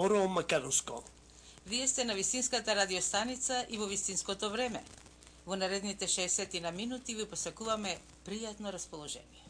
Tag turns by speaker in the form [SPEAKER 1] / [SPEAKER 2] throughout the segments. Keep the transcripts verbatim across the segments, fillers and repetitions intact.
[SPEAKER 1] зборувам македонско.
[SPEAKER 2] Вие сте на вистинската радиостаница и во вистинското време. Во наредните шеесет на минути ви посакуваме пријатно расположение.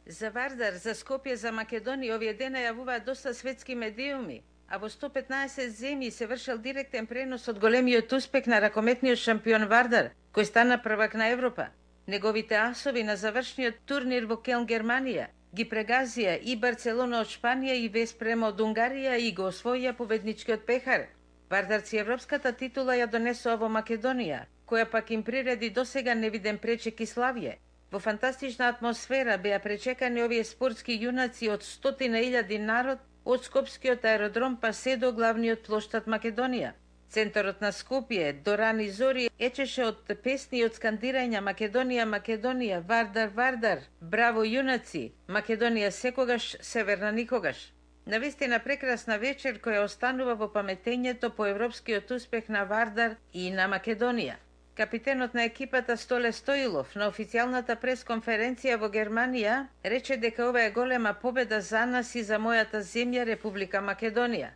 [SPEAKER 2] За Вардар, за Скопје, за Македонија овие дена јавуваат доста светски медиуми, а во сто петнаесет земји се вршел директен пренос од големиот успех на ракометниот шампион Вардар, кој стана првак на Европа. Неговите асови на завршниот турнир во Келн, Германија, ги прегазија и Барцелона од Шпанија и Веспрем од Унгарија и го освоија победничкиот пехар. Вардарци европската титула ја донесоа во Македонија, која пак им приреди досега невиден пречек и славје. Во фантастична атмосфера беа пречекани овие спортски јунаци од стотина илјади народ од Скопскиот аеродром па се до главниот плоштад Македонија. Центарот на Скопје до рани зори ечеше од песни и од скандирања Македонија, Македонија, Вардар, Вардар, браво јунаци, Македонија секогаш, северна никогаш. Навистина прекрасна вечер која останува во паметењето по европскиот успех на Вардар и на Македонија. Капитенот на екипата Столе Стоилов на официјалната пресконференција во Германија рече дека ова е голема победа за нас и за мојата земја Република Македонија.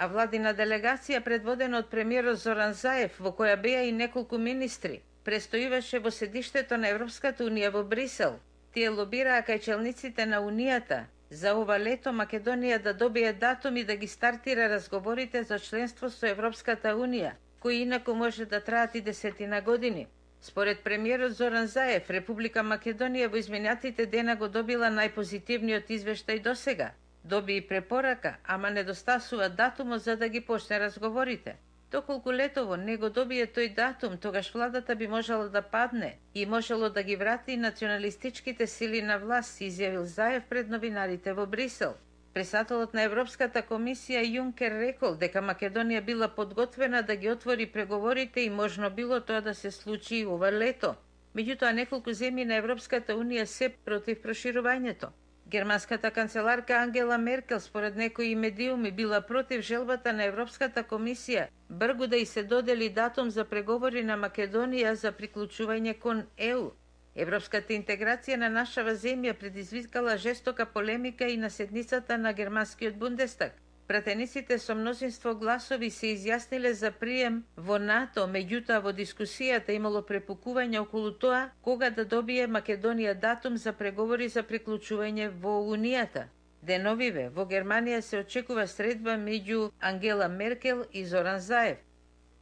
[SPEAKER 2] А владина делегација предводена од премиерот Зоран Заев, во која беа и неколку министри, престоиваше во седиштето на Европската унија во Брисел. Тие лобираа кај челниците на Унијата за ова лето Македонија да добие датум и да ги стартира разговорите за членство со Европската унија, кои инаку може да траат и десетина години. Според премиерот Зоран Заев, Република Македонија во изминатите дена го добила најпозитивниот извештај досега. Доби и препорака, ама недостасува датумот за да ги почне разговорите. Доколку летово не го добие тој датум, тогаш владата би можела да падне и можело да ги врати националистичките сили на власт, изјавил Заев пред новинарите во Брисел. Председателот на Европската комисија Јункер рекол дека Македонија била подготвена да ги отвори преговорите и можно било тоа да се случи и ова лето. Меѓутоа неколку земји на Европската унија се против проширувањето. Германската канцеларка Ангела Меркел според некои медиуми била против желбата на Европската комисија бргу да и се додели датум за преговори на Македонија за приклучување кон Е У. Европската интеграција на нашава земја предизвикала жестока полемика и на седницата на германскиот Бундестаг. Пратениците со мнозинство гласови се изјасниле за прием во НАТО, меѓутоа во дискусијата имало препукување околу тоа кога да добие Македонија датум за преговори за приклучување во Унијата. Деновиве во Германија се очекува средба меѓу Ангела Меркел и Зоран Заев.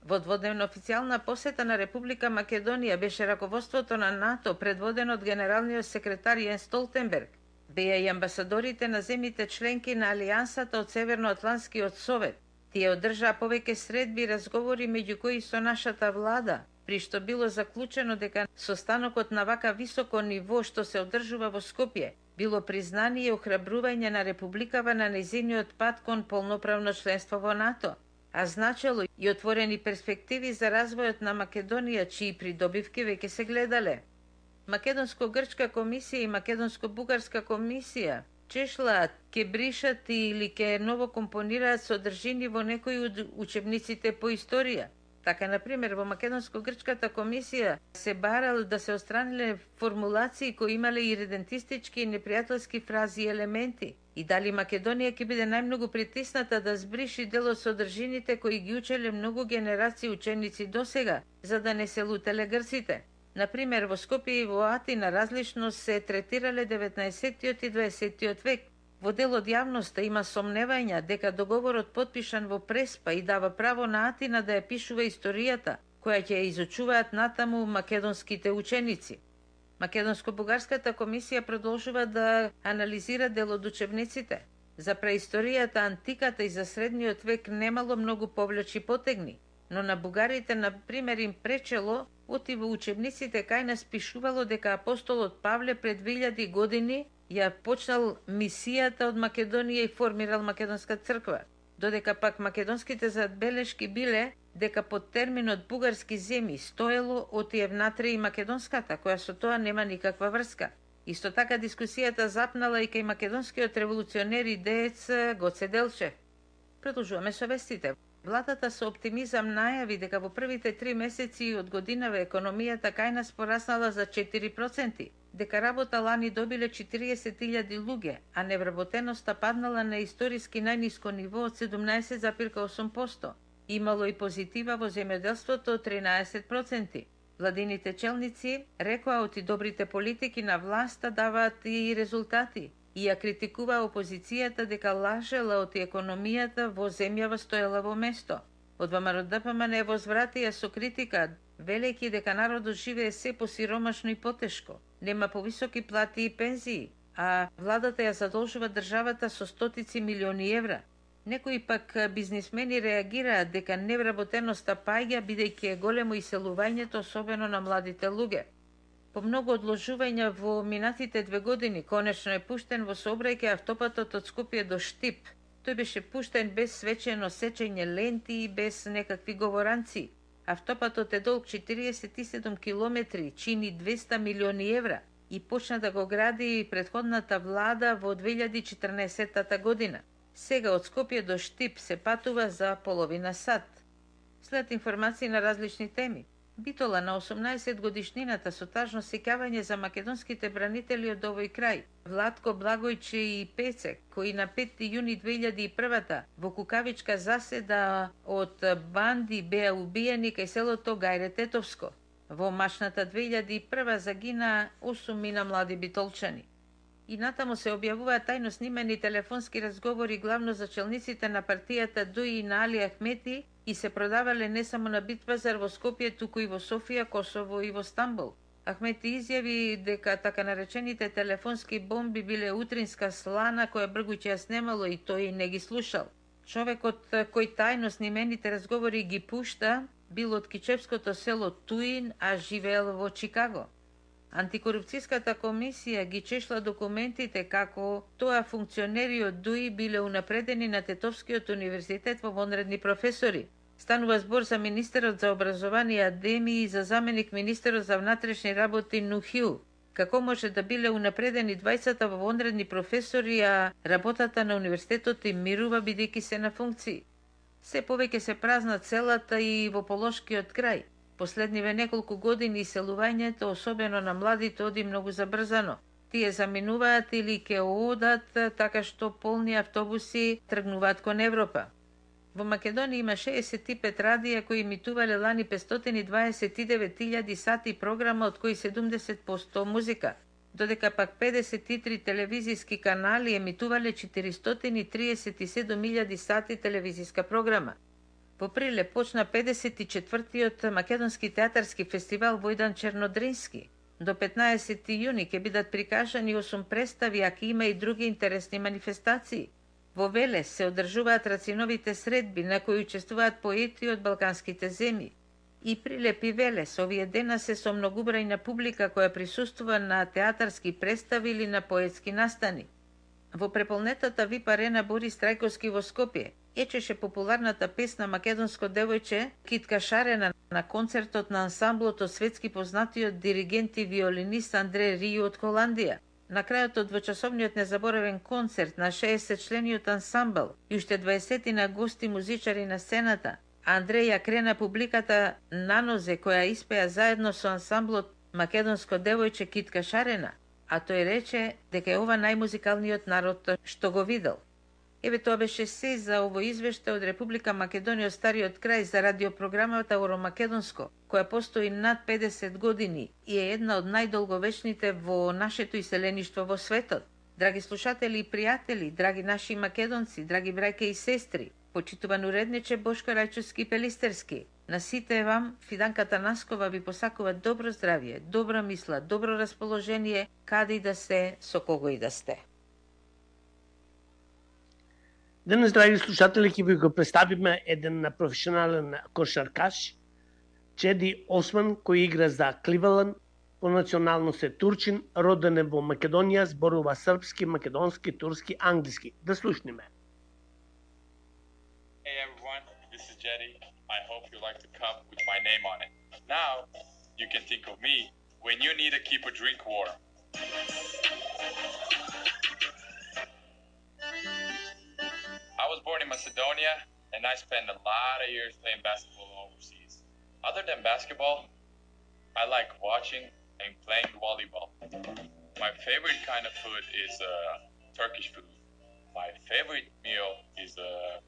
[SPEAKER 2] Во дводневна официјална посета на Република Македонија беше раководството на НАТО предводено од генералниот секретар Јенс Столтенберг. Беа и амбасадорите на земјите членки на Алијансата од Северноатлантскиот совет. Тие одржаа повеќе средби и разговори меѓу кои со нашата влада, при што било заклучено дека состанокот на вака високо ниво што се одржува во Скопје било признание и охрабрување на Републикава на нејзиниот пат кон полноправно членство во НАТО, а значело и отворени перспективи за развојот на Македонија, чии придобивки веќе се гледале. Македонско-грчка комисија и Македонско-бугарска комисија чешлаат, ке бришат или ке ново компонираат содржини во некои од учебниците по историја. Така, например, во Македонско-грчката комисија се барал да се отстраниле формулации кои имале иредентистички и непријателски фрази и елементи, и дали Македонија ќе биде најмногу притисната да збриши дел од содржините кои ги учеле многу генерации ученици досега, за да не се лутеле грците. Например, во Скопје и во Атина различно се третирале деветнаесеттиот и дваесеттиот век. Во дел од јавноста има сомневања дека договорот потпишан во Преспа и дава право на Атина да ја пишува историјата, која ќе ја изучуваат натаму македонските ученици. Македонско-бугарската комисија продолжува да анализира дел од учебниците. За преисторијата, антиката и за средниот век немало многу повлечи потегни, но на бугарите, на пример, им пречело оти во учебниците кај нас пишувало дека апостолот Павле пред две илјади години ја почнал мисијата од Македонија и формирал Македонска црква, додека пак македонските забелешки биле дека под терминот бугарски земји стоело оти евнатре и македонската, која со тоа нема никаква врска. Исто така дискусијата запнала и кај македонскиот револуционер и деец Гоце Делчев. Продолжуваме со вестите. Владата со оптимизам најави дека во првите три месеци од годинава економијата кај нас пораснала за четири проценти, дека работа лани добиле четириесет илјади луѓе, а невработеноста паднала на историски најниско ниво од седумнаесет зарез и осум проценти. Имало и позитива во земјоделството од тринаесет проценти. Владините челници рекоа оти добрите политики на власта даваат и резултати и ја критикува опозицијата дека лажела оти економијата во земјава стоела во место. Од ВМРО Д П М Н возвратија со критика, велејќи дека народот живее се посиромашно и потешко. Нема повисоки плати и пензии, а владата ја задолжува државата со стотици милиони евра. Некои пак бизнисмени реагираат дека невработеноста паѓа бидејќи е големо иселувањето, особено на младите луѓе. По многу одложувања во минатите две години, конечно е пуштен во сообраќај автопатот од Скопје до Штип. Тој беше пуштен без свечено сечење ленти и без некакви говоранци. Автопатот е долг четириесет и седум километри, чини двеста милиони евра и почна да го гради претходната влада во две илјади и четрнаесетта година. Сега од Скопје до Штип се патува за половина сат. След информации на различни теми. Битола на осумнаесет годишнината со тажно сеќавање за македонските бранители од овој крај. Владко, Благојче и Пецек, кои на петти јуни две илјади и прва во Кукавичка заседа од банди беа убиени кај селото Гајре Тетовско. Во машната две илјади и прва загина осум мина млади битолчани. И натаму се објавуваат тајно снимени телефонски разговори главно за челниците на партијата ДУИ и на Али Ахмети и се продавале не само на Битпазар во Скопје, туку и во Софија, Косово и во Стамбул. Ахмети изјави дека така наречените телефонски бомби биле утринска слана која Бргујче ја снемало и тој не ги слушал. Човекот кој тајно снимените разговори ги пушта бил од кичевското село Туин, а живеел во Чикаго. Антикорупцијската комисија ги чешла документите како тоа функционери од ДУИ биле унапредени на Тетовскиот универзитет во вонредни професори. Станува збор за министерот за образование Адеми и за заменик министерот за внатрешни работи Нухил. Како може да биле унапредени двајцата во вонредни професори, а работата на универзитетот им мирува бидејќи се на функции? Се повеќе се празна целата и во полошкиот крај. Последниве неколку години иселувањето, особено на младите, оди многу забрзано. Тие заминуваат или ке одат, така што полни автобуси тргнуваат кон Европа. Во Македонија има шеесет и пет радија кои емитувале лани петстотини и дваесет и девет илјади сати програма, од кои седумдесет проценти музика, додека пак педесет и три телевизиски канали емитувале четиристотини и триесет и седум илјади сати телевизиска програма. Во Прилеп почна педесет и четвртиот македонски театарски фестивал Војдан Чернодрински. До петнаесети јуни ќе бидат прикажани осум представи, а ќе има и други интересни манифестации. Во Велес се одржуваат рациновите средби на кои учествуваат поети од балканските земји. И Прилеп и Велес овие дена се со многубрајна публика која присуствува на театарски представи или на поетски настани. Во преполнетата ВИП арена Борис Трајковски во Скопје ечеше популарната песна Македонско девојче Китка Шарена на концертот на ансамблот од светски познатиот диригент и виолинист Андре Рију од Холандија. На крајот од двочасовниот незаборавен концерт на шеесет члениот ансамбл и уште дваесетина гости музичари на сцената, Андреј ја крена публиката на нозе која испеа заедно со ансамблот Македонско девојче Китка Шарена, а тој рече дека е ова најмузикалниот народ што го видел. Еве тоа беше се за овој извештај од Република Македонија од стариот крај за радиопрограмата Евромакедонско, која постои над педесет години и е една од најдолговечните во нашето иселеништво во светот. Драги слушатели и пријатели, драги наши македонци, драги браќа и сестри, почитуван уредниче Бошко Рајчовски Пелистерски, на сите вам Фиданката Наскова ви посакува добро здравје, добра мисла, добро расположение, каде и да се, со кого и да сте.
[SPEAKER 1] Денес, драги слушатели, ќе ви го представиме еден професионален кошаркаш, Чеди Осман, кој игра за Кливеланд, по националност е турчин, роден е во Македонија, зборува српски, македонски, турски, англиски. Да слушниме.
[SPEAKER 3] Hey everyone, this is Jetty. I hope you like the cup with my name on it. Now, you can think of me when you need to keep a drink warm. I was born in Macedonia, and I spent a lot of years playing basketball overseas. Other than basketball, I like watching and playing volleyball. My favorite kind of food is uh, Turkish food. My favorite meal is uh,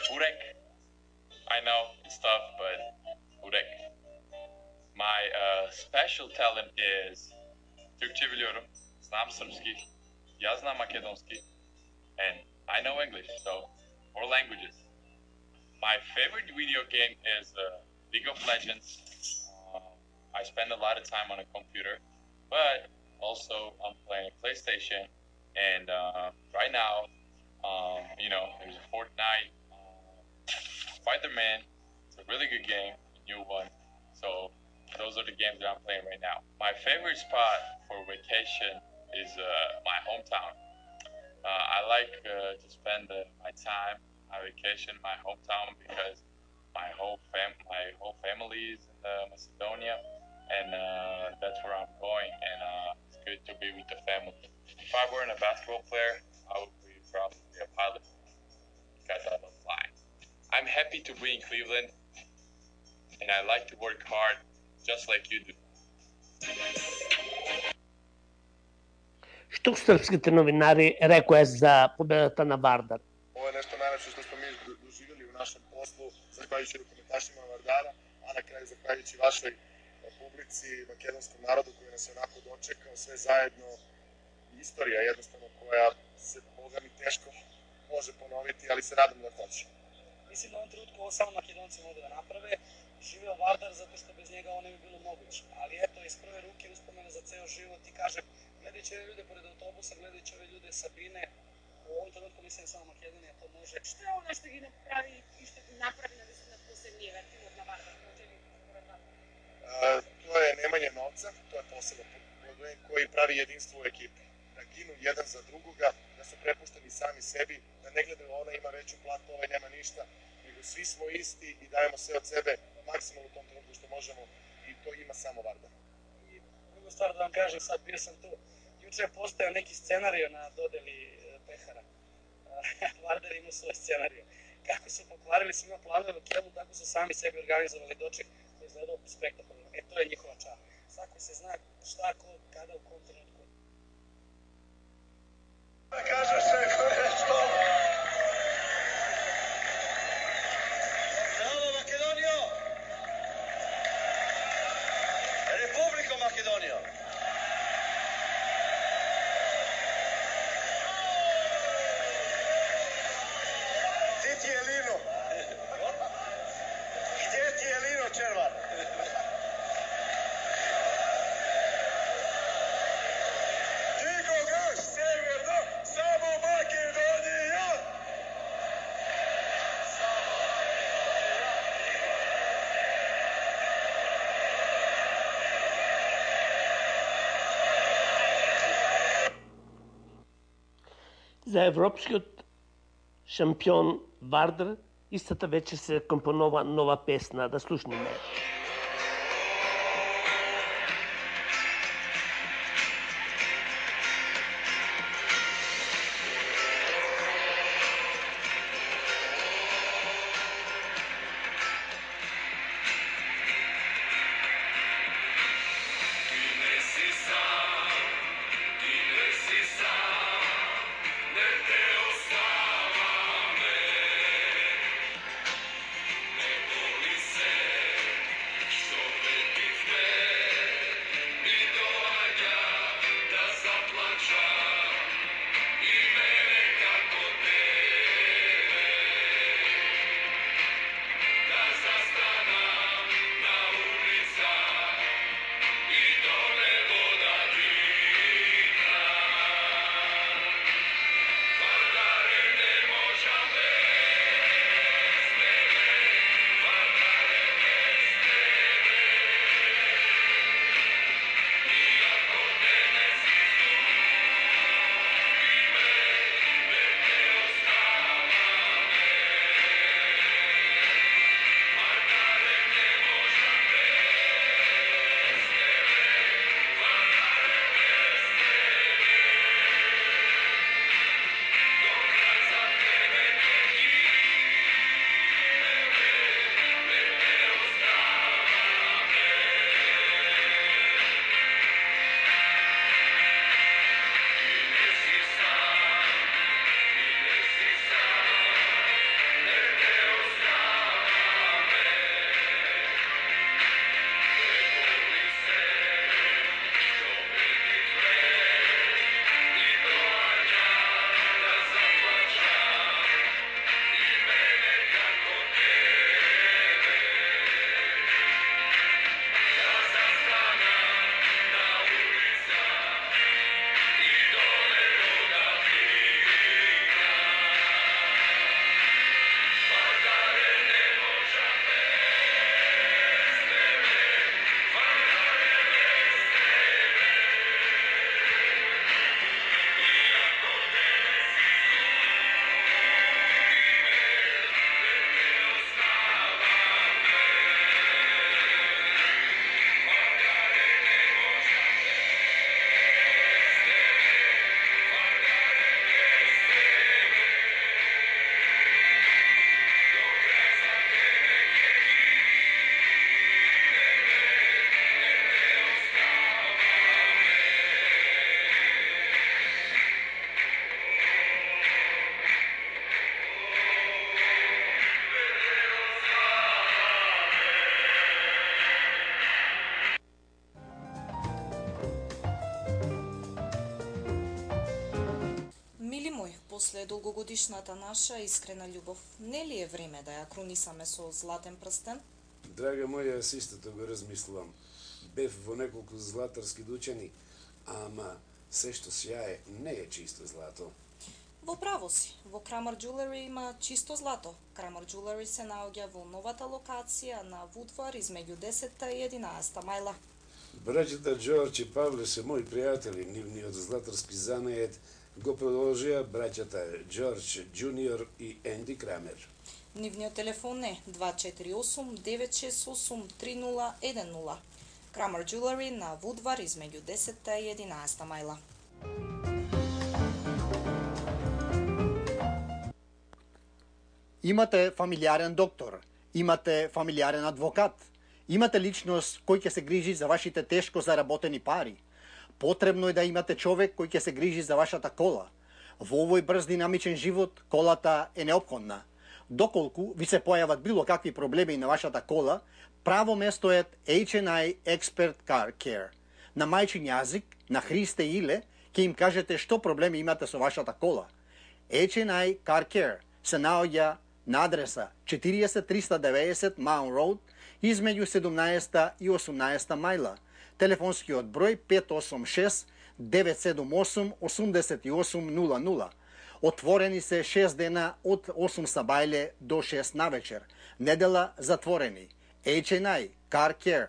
[SPEAKER 3] burek. I know it's tough, but burek. My uh, special talent is Türkçe biliyorum, znam srpski, ja znam makedonski, and I know English, so more languages. My favorite video game is uh, League of Legends. Uh, I spend a lot of time on a computer, but also I'm playing a PlayStation, and uh, right now, um, you know, there's a Fortnite, uh, Spider-Man. It's a really good game, a new one. So those are the games that I'm playing right now. My favorite spot for vacation is uh, my hometown. Uh, I like uh, to spend uh, my time, my vacation, in my hometown because my whole fam, my whole family is in uh, Macedonia, and uh, that's where I'm going. And uh, it's good to be with the family. If I weren't a basketball player, I would be probably a pilot because I love flying. I'm happy to be in Cleveland, and I like to work hard, just like you do.
[SPEAKER 1] Што српските новинари рекоа за победата на Вардар?
[SPEAKER 4] Ова е нешто најлепше што сме ми доживели у нашем послу, захвалjuјќи рукометашима на Вардара, а на крај захвалjuјќи вашој публици, македонском народу кој нас онако дочекал, све заедно. Историја едноставно која се бога ми тешко може поновити, али се надам да хоće.
[SPEAKER 5] Мислим да во овом тренутку ово само македонци могу да направе. Живео Вардар затоа што без njega ovo ne bi bilo moguće. Ali eto, iz prve ruke uspomena za ceo život i kažem, gledajući ove ljude pored autobusa, gledajući ove ljude sa Bine, u ovom trenutku mislim samo Makedonija to može.
[SPEAKER 6] Што е она што ги направи и што ги направи на висина посебниот тимот на Вардар?
[SPEAKER 4] Тоа е немање новца, тоа е посебен проблем кој прави единство у екипи. Да гину jedan за другога, да се препуштени сами sebi, да не гледaju она има веќу плату, овај нема ништа, него svi smo isti i dajemo sve od sebe maksimalno u tom trenutku što možemo i to ima samo Vardar.
[SPEAKER 5] I drugu stvar da vam kažem, sad bio sam tu, juče je postojao neki scenario na dodeli pehara. Vardar ima svoj scenario. Kako su pokvarili svima planove u Kelu, tako su sami sebi organizovali doček koji je izgledao spektakularno. E, to je njihova čar. Svako se zna šta, ko, kada, u kom trenutku.
[SPEAKER 4] Da kažeš neko nešto?
[SPEAKER 7] Bravo Makedonijo! Republiko Makedonijo! Ti ti je Lino? Gdje ti je Lino Červar? Nikoga severno, samo Makedonija!
[SPEAKER 1] За европскиот шампион Вардар истата вечер се компонова нова песна, да слушнеме.
[SPEAKER 8] е долгогодишната наша искрена љубов. Нели е време да ја крунисаме со златен прстен?
[SPEAKER 9] Драга моја, јас истото го размислувам. Бев во неколку златарски дучени, ама се што сјае не е чисто злато.
[SPEAKER 8] Во право си, во Крамер Jewelry има чисто злато. Крамер Jewelry се наоѓа во новата локација на Вудвар измеѓу десетта и единаесетта мајла.
[SPEAKER 9] Браќата Џорџ и Павле се мои пријатели, нивниот златарски занает го продолжија браќата Џорџ Џуниор и Енди Крамер.
[SPEAKER 8] Нивниот телефон е два четири осум девет шест осум три нула еден нула. Крамер Jewelry на Вудвар измеѓу десетта и единаесетта мајла.
[SPEAKER 10] Имате фамилиарен доктор, имате фамилиарен адвокат, имате личност кој ќе се грижи за вашите тешко заработени пари. Потребно е да имате човек кој ќе се грижи за вашата кола. Во овој брз динамичен живот, колата е неопходна. Доколку ви се појават било какви проблеми на вашата кола, право место е H and I Expert Car Care. На мајчин јазик, на Христе Иле, ќе им кажете што проблеми имате со вашата кола. H and I Car Care се наоѓа на адреса четириесет триста деветдесет Маун Роуд, измеѓу седумнаесетта и осумнаесетта мајла. Телефонскиот број пет осум шест девет седум осум осум осум нула нула. Отворени се шест дена од осум сабајле до шест навечер. Недела затворени. H and I Car Care.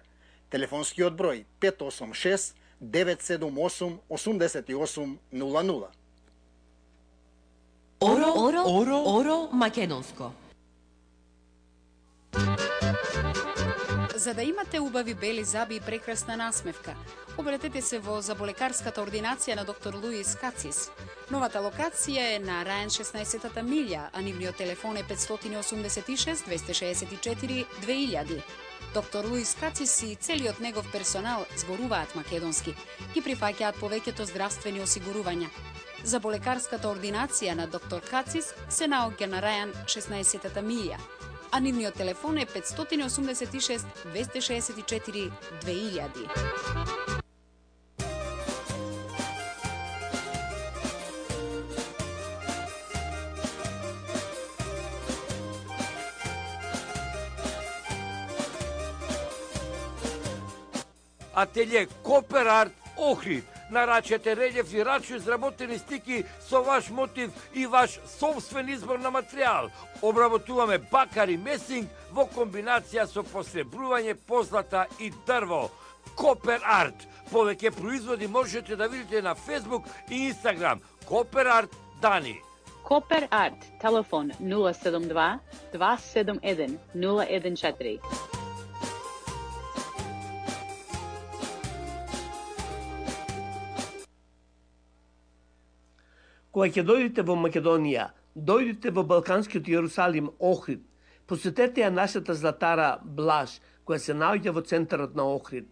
[SPEAKER 10] Телефонскиот број пет осум шест девет седум осум осум осум нула нула.
[SPEAKER 11] Оро, оро, оро, оро македонско.
[SPEAKER 12] За да имате убави бели заби и прекрасна насмевка, обратете се во заболекарската ординација на доктор Луис Кацис. Новата локација е на Рајан шеснаесетта милја, а нивниот телефон е пет осум шест двеста шеесет и четири две илјади. Доктор Луис Кацис и целиот негов персонал зборуваат македонски и прифаќаат повеќето здравствени осигурувања. Заболекарската ординација на доктор Кацис се наоѓа на Рајан шеснаесетта милја, а нивниот телефон е пет осум шест двеста шеесет и четири две илјади.
[SPEAKER 13] Ателје Копер Арт Охрид. Нарачете релјеф и рачно изработени стики со ваш мотив и ваш собствен избор на материјал. Обработуваме бакар и месинг во комбинација со посребрување, позлата и дрво. Копер Арт. Повеќе производи можете да видите на Facebook и Instagram. Копер Арт Дани.
[SPEAKER 14] Копер Арт. Телефон нула седум два два седум еден нула еден четири.
[SPEAKER 1] Кога ќе дојдете во Македонија, дојдете во Балканскиот Јерусалим Охрид, посетете ја нашата златара Блаж, која се наоѓа во центарот на Охрид.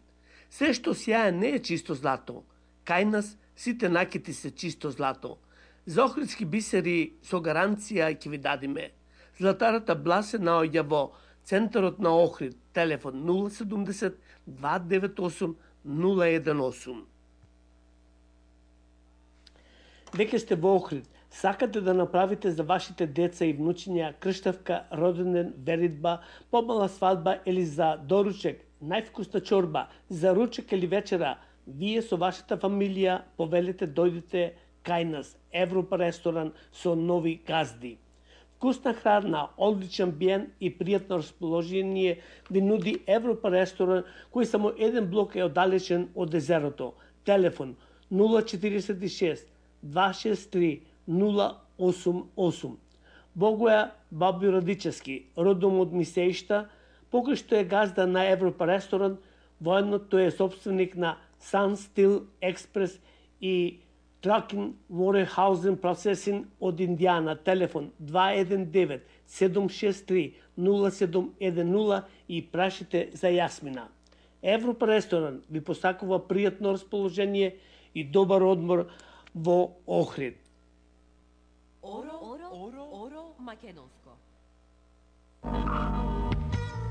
[SPEAKER 1] Се што сјае не е чисто злато. Кај нас сите накити се чисто злато. За охридски бисери со гаранција ќе ви дадиме. Златарата Блаж се наоѓа во центарот на Охрид, телефон нула седумдесет два девет осум нула еден осум. Веќе сте во Охрид, сакате да направите за вашите деца и внучиња крштавка, роденден, веридба, помала свадба или за доручек, највкусна чорба, за ручек или вечера, вие со вашата фамилија повелете дојдете кај нас, Европа ресторан со нови газди. Вкусна храна, одличен амбиент и пријатно расположение ви нуди Европа ресторан, кој само еден блок е оддалечен од езерото. Телефон нула четириесет и шест два шест три нула осум осум. Богоја Бабјо Радичевски, родом од Мисеишта, покај што е газда на Европа ресторан, воедно тој е собственик на Sun Steel Express и Trucking Warehousing Processing од Индијана. Телефон два еден девет седум шест три нула седум еден нула и прашите за Јасмина. Европа ресторан ви посакува пријатно расположение и добар одмор во Охрид.
[SPEAKER 11] Оро, оро, оро, оро македонско.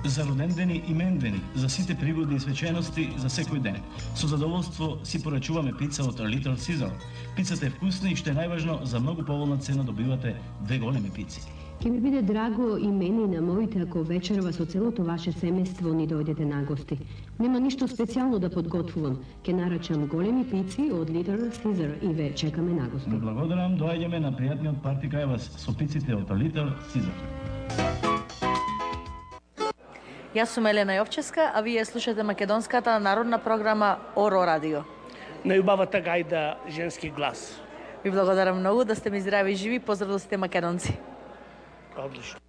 [SPEAKER 15] за родендени и мендени, за сите пригодни свечености за секој ден. Со задоволство си порачуваме пица од Little Caesar. Пицата е вкусна и што е најважно, за многу поволна цена добивате две големи пици.
[SPEAKER 16] Ке ми биде драго и мене и на моите ако вечерва со целото ваше семејство ни дојдете на гости. Нема ништо специјално да подготвувам. Ке нарачам големи пици од Little Caesar и ве чекаме на гости.
[SPEAKER 15] Благодарам, доаѓаме на пријатниот парти кај вас со пиците од Little Caesar.
[SPEAKER 17] Јас сум Елена Јовчевска, а вие слушате македонската народна програма Оро Радио.
[SPEAKER 1] Најубавата гајда женски глас.
[SPEAKER 17] Ви благодарам многу да сте ми здрави и живи. Поздрав да сте македонци.
[SPEAKER 1] Одлично.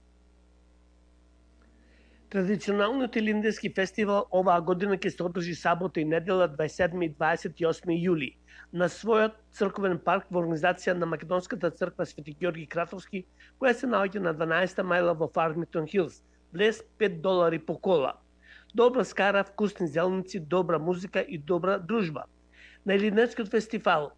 [SPEAKER 1] Традиционалниот Илинденски фестивал оваа година ќе се одржи сабота и недела дваесет и седми и дваесет и осми јули на својот црковен парк во организација на Македонската црква Свети Ѓорги Кратовски, која се наоѓа на дванаесета мајла во Фармингтон Хилс. Влез пет долари по кола. Добра скара, вкусни зеленици, добра музика и добра дружба. На Илинденскиот фестивал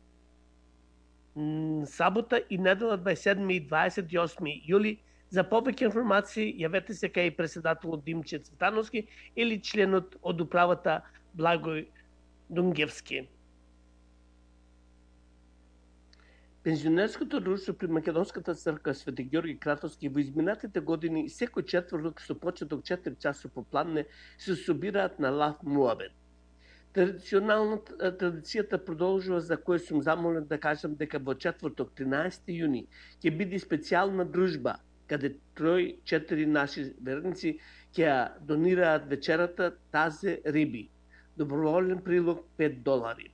[SPEAKER 1] сабота и недела дваесет и седми и дваесет и осми јули. За повеќе информации јавете се кај председателот Димче Цветановски или членот од управата Благој Дунгевски. Пензионерското друштво при Македонската црква Свети Ѓорги Кратовски во изминатите години секој четврток со почеток четири часот попладне се собираат на лав муабет. Традиционалната традицијата продолжува, за која сум замолен да кажам дека во четврток тринаесети јуни ќе биде специјална дружба каде трој четири наши верници ќе донираат вечерата тазе риби. Доброволен прилог пет долари.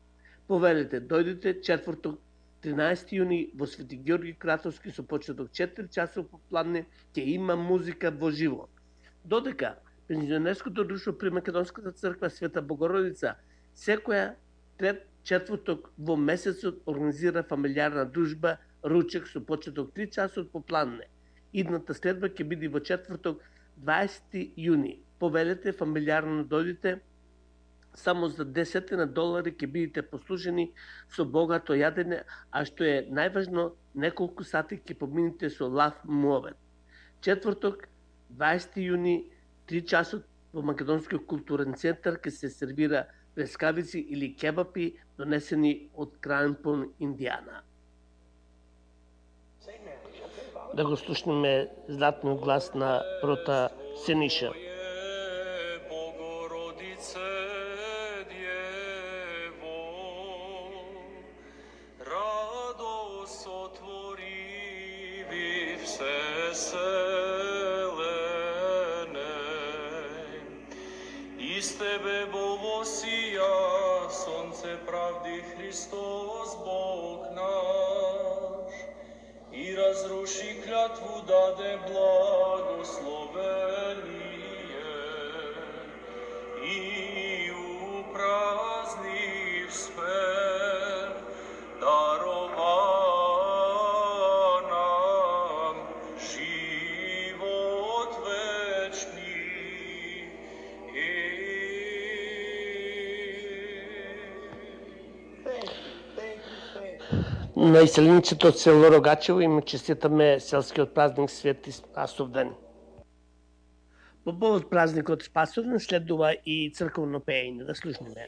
[SPEAKER 1] Повелете, дојдете четврток тринаесети јуни во Свети Ѓорги Кратовски со почеток четири часот попладне ќе има музика во живо. Додека пензионерското друштво при Македонската црква Света Богородица секоја трет четврток во месецот организира фамилиарна дружба ручек со почеток три часот попладне. Идната следба ќе биде во четврток дваесети јуни. Повелете, фамилиарно дојдите, само за десет долари ќе бидете послужени со богато јадење, а што е најважно, неколку сати ќе помините со лав муабет. Четврток, дваесети јуни, три часот во Македонскиот културен центар ќе се сервира плескавици или кебапи донесени од Крајнпон, Индијана. Да го слушнеме златниот глас на Прота Сениша.
[SPEAKER 18] Из тебе болосија сонце правди Христос Бог наш и разруши клятву, даде благословение и упразни в спев дарова нам живот вечни.
[SPEAKER 1] На иселениците од село Рогачево им честитаме селскиот празник Свети Спасовден. По повод празникот Спасовден следува и црковно пеење, да слушнеме.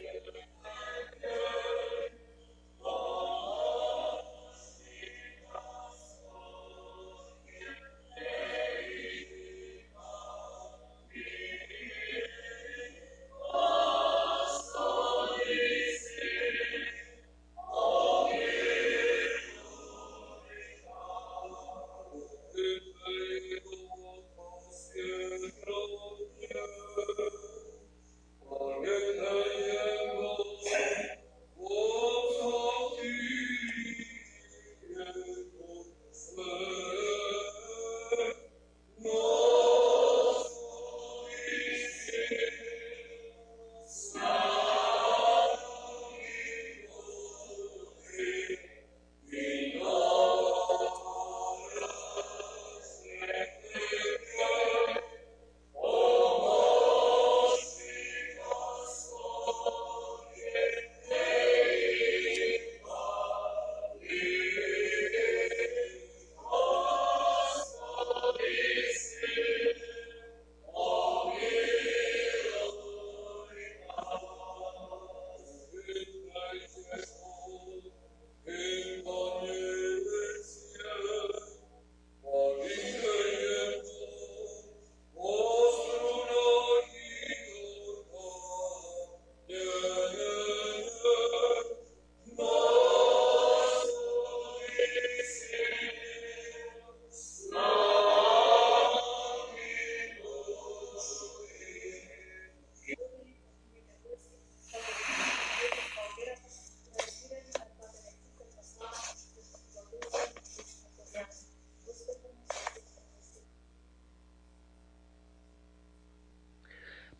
[SPEAKER 18] Amen.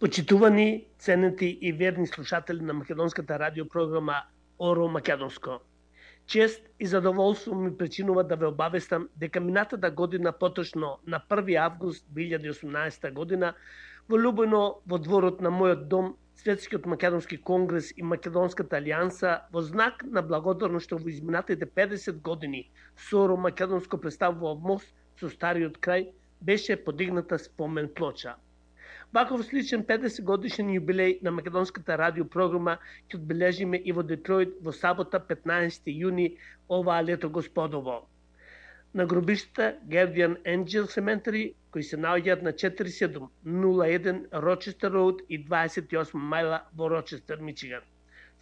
[SPEAKER 1] Почитувани, ценети и верни слушатели на македонската радиопрограма Оро Македонско. Чест и задоволство ми причинува да ве обавестам дека минатата година, поточно на први август две илјади и осумнаесета година, во Лубојно, во дворот на мојот дом, Светскиот македонски конгрес и Македонската алијанса, во знак на благодарност што во изминатите педесет години Оро Македонско представува мост со стариот крај, беше подигната спомен плоча. Ваков сличен педесет годишен јубилеј на македонската радиопрограма ќе одбележиме и во Детројт во сабота петнаесети јуни оваа лето господово. На гробиштата Guardian Angel Cemetery, кои се наоѓаат на четири седум нула еден Рочестер Роуд и дваесет и осма мајла во Рочестер, Мичиган.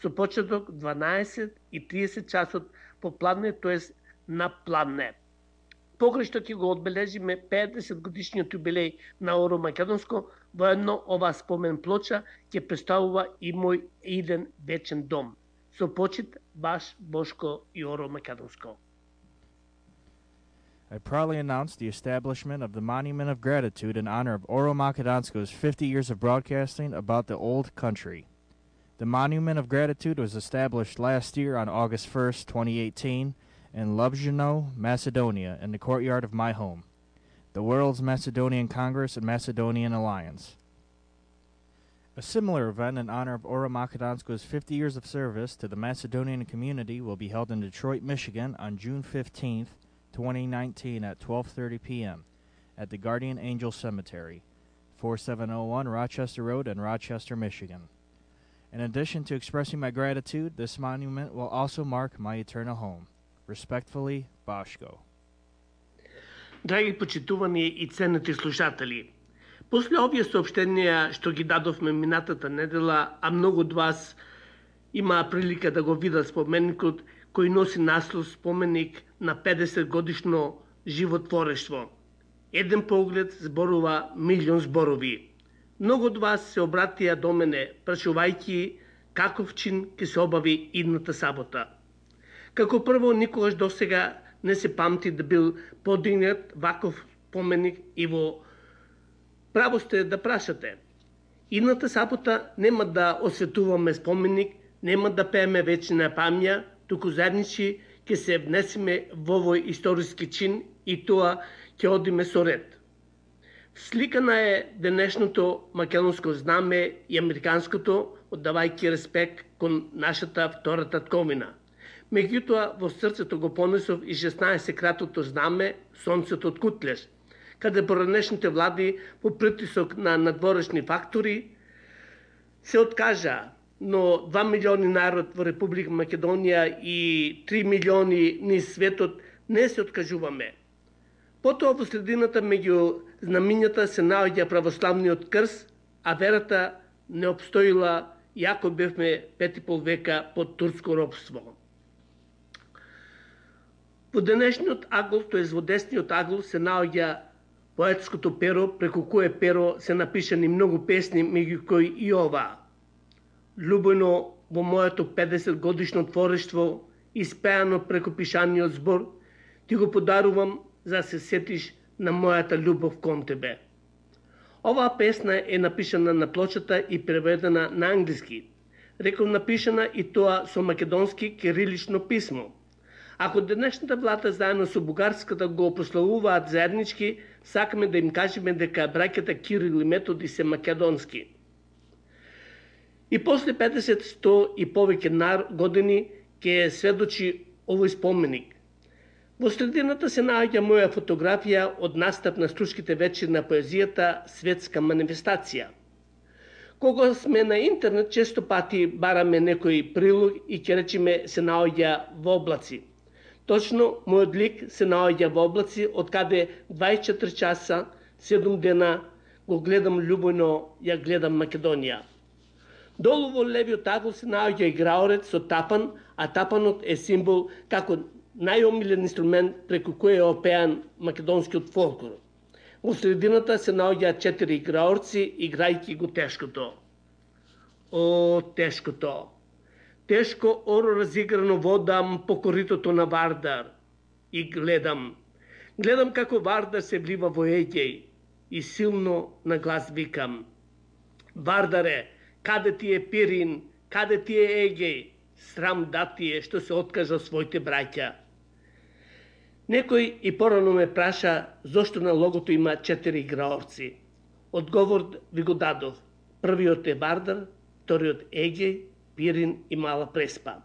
[SPEAKER 1] Со почеток дванаесет и триесет часот по пладне, тоест на пладне. Покрај што ќе го одбележиме педесет годишниот јубилеј на Оро Македонско, воедно оваа спомен плоча ќе представува и мој иден вечен дом. Со почит, баш Бошко и Оро Македонско.
[SPEAKER 19] I proudly announce the establishment of the Monument of Gratitude in honor of Oro Makedonsko's fifty years of broadcasting about the old country. The Monument of Gratitude was established last year on August first, twenty eighteen, in Lubzhino, Macedonia, in the courtyard of my home, the World's Macedonian Congress and Macedonian Alliance. A similar event in honor of Oro Makedonsko's fifty years of service to the Macedonian community will be held in Detroit, Michigan on June fifteenth, twenty nineteen at twelve thirty p m at the Guardian Angel Cemetery, forty-seven oh one Rochester Road in Rochester, Michigan. In addition to expressing my gratitude, this monument will also mark my eternal home. Respectfully, Башко.
[SPEAKER 1] Драги почитувани и ценети слушатели, после овие сообщенија што ги дадовме минатата недела, а многу од вас има прилика да го видат споменикот кој носи наслов споменик на педесет годишно животворештво. Еден поглед зборува милион зборови. Многу од вас се обратија до мене, прашувајќи каков чин ќе се обави идната сабота. Како прво, никогаш досега не се памти да бил подигнат ваков споменик и во право сте да прашате. Идната сабота нема да осветуваме споменик, нема да пееме вечна памја, туку заедничи ќе се внесеме во овој историски чин и тоа ќе одиме со ред. Сликана е денешното македонско знаме и американското, оддавајќи респект кон нашата втора татковина. Меѓутоа, во срцето го понесов и шеснаесет-кратото знаме Сонцето од Кутлеш, каде поранешните влади по притисок на надворешни фактори се откажа, но два милиони народ во Република Македонија и три милиони низ светот не се откажуваме. Потоа во средината меѓу знамињата се наоѓа православниот крст, а верата не обстоила, јако бевме пет и пол века под турско робство. Во денешниот агол, тоест во десниот агол, се наоѓа поетското перо, преку кое перо се напишани многу песни, меѓу кои и ова. Любено во моето педесет годишно творештво, испеано преку пишаниот збор, ти го подарувам за да се сетиш на мојата љубов кон тебе. Оваа песна е напишана на плочата и преведена на англиски. Реков напишана и тоа со македонски кирилично писмо. Ако денешната влада заедно со бугарската го прославуваат заеднички, сакаме да им кажеме дека браќата Кирил и Методи се македонски. И после педесет сто и повеќе години ќе сведочи овој споменик. Во средината се наоѓа моја фотографија од настап на Струшките вечери на поезијата Светска манифестација. Кога сме на интернет, често пати бараме некој прилог и ќе речеме се наоѓа во облаци. Точно, мојот лик се наоѓа во облаци, од каде дваесет и четири часа, седум дена го гледам љубојно, ја гледам Македонија. Долу во левиот агол се наоѓа играорец со тапан, а тапанот е символ како најомилен инструмент преку кој е опеан македонскиот фолклор. Во средината се наоѓаат четири играорци, играјќи го тешкото. О, тешкото! Тешко оро разиграно водам по коритото на Вардар и гледам. Гледам како Вардар се влива во Егеј и силно на глас викам. Вардаре, каде ти е Пирин, каде ти е Егеј, срам да ти е што се откажа своите браќа. Некој и порано ме праша зошто на логото има четири играорци. Одговор ви го дадов. Првиот е Вардар, вториот Егеј, Пирин и Мала Преспа.